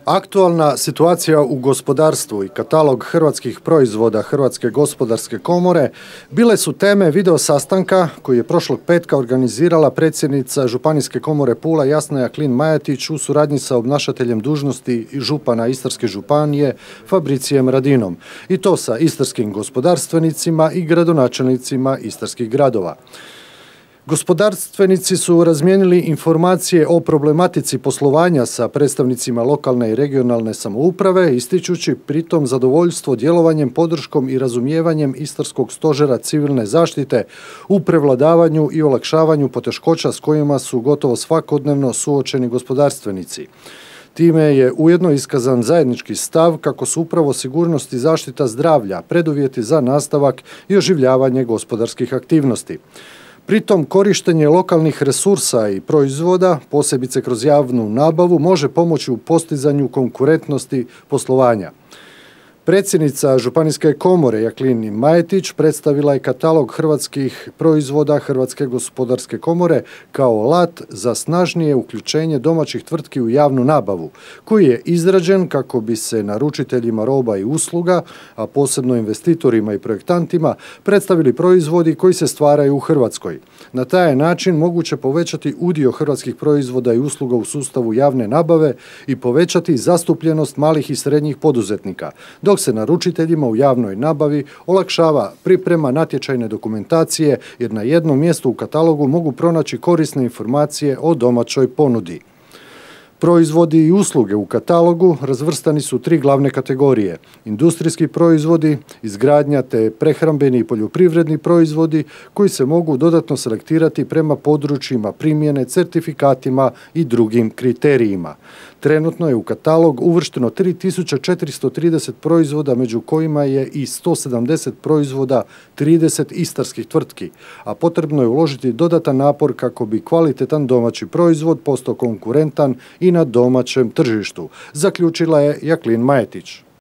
Aktualna situacija u gospodarstvu i katalog hrvatskih proizvoda Hrvatske gospodarske komore bile su teme video sastanka koji je prošlog petka organizirala predsjednica Županijske komore Pula Jasna Jaklin-Majatić u suradnji sa obnašateljem dužnosti župana Istarske županije Fabricijem Radinom, i to sa istarskim gospodarstvenicima i gradonačelnicima istarskih gradova. Gospodarstvenici su razmijenili informacije o problematici poslovanja sa predstavnicima lokalne i regionalne samouprave, ističući pritom zadovoljstvo djelovanjem, podrškom i razumijevanjem Istarskog stožera civilne zaštite u prevladavanju i olakšavanju poteškoća s kojima su gotovo svakodnevno suočeni gospodarstvenici. Time je ujedno iskazan zajednički stav kako su upravo sigurnost i zaštita zdravlja preduvjeti za nastavak i oživljavanje gospodarskih aktivnosti. Pritom korištenje lokalnih resursa i proizvoda, posebice kroz javnu nabavu, može pomoći u postizanju konkurentnosti poslovanja. Predsjednica Županijske komore Jaklin-Majatić predstavila je katalog hrvatskih proizvoda Hrvatske gospodarske komore kao alat za snažnije uključenje domaćih tvrtki u javnu nabavu, koji je izrađen kako bi se naručiteljima roba i usluga, a posebno investitorima i projektantima, predstavili proizvodi koji se stvaraju u Hrvatskoj. Na taj način moguće povećati udio hrvatskih proizvoda i usluga u sustavu javne nabave i povećati zastupljenost malih i srednjih poduzetnika, dok se naručiteljima u javnoj nabavi olakšava priprema natječajne dokumentacije, jer na jednom mjestu u katalogu mogu pronaći korisne informacije o domaćoj ponudi. Proizvodi i usluge u katalogu razvrstani su tri glavne kategorije: industrijski proizvodi, izgradnja te prehrambeni i poljoprivredni proizvodi koji se mogu dodatno selektirati prema područjima primjene, certifikatima i drugim kriterijima. Trenutno je u katalog uvršteno 3430 proizvoda, među kojima je i 170 proizvoda 30 istarskih tvrtki, a potrebno je uložiti dodatan napor kako bi kvalitetan domaći proizvod postao konkurentan i na domaćem tržištu, zaključila je Jaklin-Majatić.